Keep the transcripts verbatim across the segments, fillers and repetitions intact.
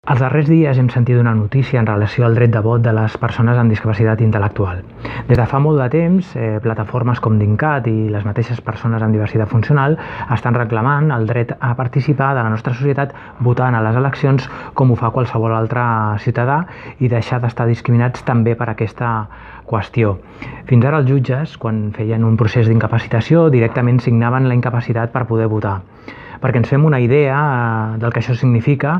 Els darrers dies hem sentit una notícia en relació al dret de vot de les persones amb discapacitat intel·lectual. Des de fa molt de temps, eh, plataformes com DINCAT i les mateixes persones amb diversitat funcional estan reclamant el dret a participar de la nostra societat votant a les eleccions com ho fa qualsevol altre ciutadà i deixar d'estar discriminats també per aquesta qüestió. Fins ara els jutges, quan feien un procés d'incapacitació, directament signaven la incapacitat per poder votar. Perquè ens fem una idea del que això significa,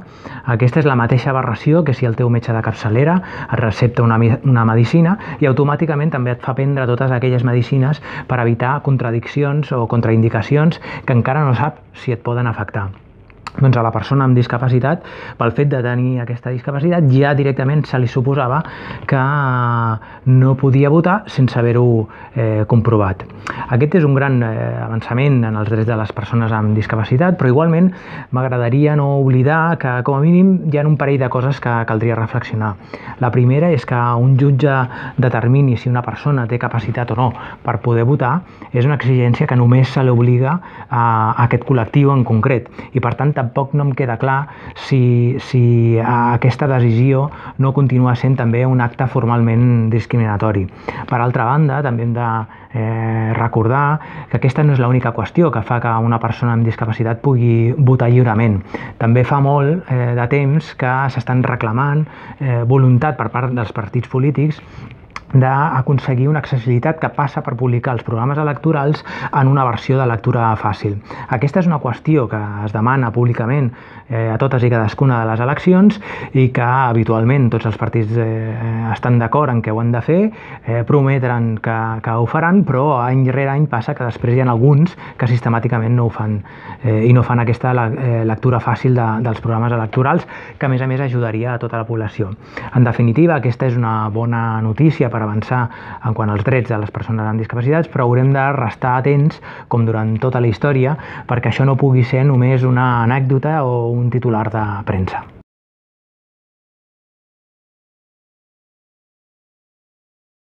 aquesta és la mateixa aberració que si el teu metge de capçalera et recepta una, una medicina i automàticament també et fa prendre totes aquelles medicines per evitar contradiccions o contraindicacions que encara no sap si et poden afectar. Doncs a la persona amb discapacitat, pel fet de tenir aquesta discapacitat, ja directament se li suposava que no podia votar sense haver-ho eh, comprovat. Aquest és un gran eh, avançament en els drets de les persones amb discapacitat, però igualment m'agradaria no oblidar que com a mínim hi ha un parell de coses que caldria reflexionar. La primera és que un jutge determini si una persona té capacitat o no per poder votar és una exigència que només se li obliga a, a aquest col·lectiu en concret i per tant tampoc no em queda clar si, si aquesta decisió no continua sent també un acte formalment discriminatori. Per altra banda, també hem de eh, recordar que aquesta no és l'única qüestió que fa que una persona amb discapacitat pugui votar lliurement. També fa molt eh, de temps que s'estan reclamant eh, voluntat per part dels partits polítics d'aconseguir una accessibilitat que passa per publicar els programes electorals en una versió de lectura fàcil. Aquesta és una qüestió que es demana públicament eh, a totes i cadascuna de les eleccions i que habitualment tots els partits eh, estan d'acord en què ho han de fer, eh, prometren que, que ho faran, però any rere any passa que després hi ha alguns que sistemàticament no ho fan eh, i no fan aquesta eh, lectura fàcil de, dels programes electorals que a més a més ajudaria a tota la població. En definitiva, aquesta és una bona notícia per avançar en quant als drets de les persones amb discapacitats, però haurem de restar atents, com durant tota la història, perquè això no pugui ser només una anècdota o un titular de premsa.